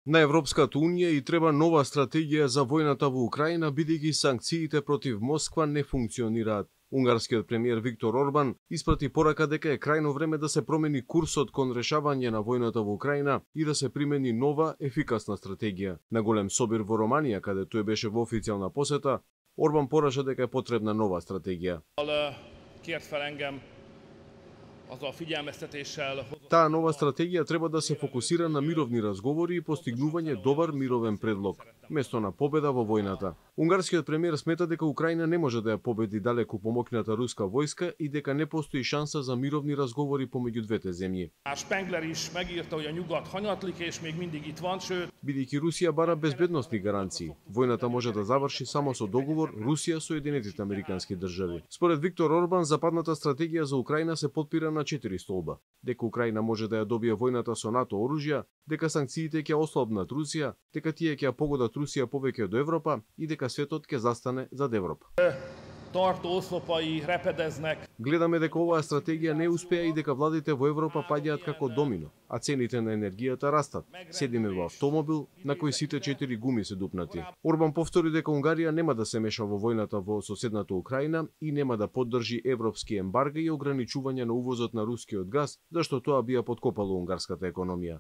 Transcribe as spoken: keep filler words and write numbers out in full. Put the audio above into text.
На Европската унија и треба нова стратегија за војната во Украина, бидејќи санкциите против Москва не функционираат. Унгарскиот премиер Виктор Орбан испрати порака дека е крајно време да се промени курсот кон решавање на војната во Украина и да се примени нова, ефикасна стратегија. На голем собир во Романија, каде тој беше во официјална посета, Орбан пораша дека е потребна нова стратегија. Таа нова стратегија треба да се фокусира на мировни разговори и постигнување добар мировен предлог, место на победа во војната. Унгарскиот премиер смета дека Украина не може да ја победи далеку помокната руска војска и дека не постои шанса за мировни разговори помеѓу двете земји. Бидејќи Русија бара безбедносни гаранции, војната може да заврши само со договор Русија-Соединетите американски држави. Според Виктор Орбан, западната стратегија за Украина се потпира на четири столба: дека Украина може да ја добие војната со НАТО оружја, дека санкциите ќе ослабнат Русија, дека тие ќе ја погодат Русија повеќе до Европа и дека светот ќе застане зад Европа. Гледаме дека оваа стратегија не успеа и дека владите во Европа паѓаат како домино, а цените на енергијата растат. Седиме во автомобил на кој сите четири гуми се дупнати. Орбан повтори дека Унгарија нема да се меша во војната во соседната Украина и нема да поддржи европски ембарга и ограничување на увозот на рускиот газ, зашто тоа би ја подкопало унгарската економија.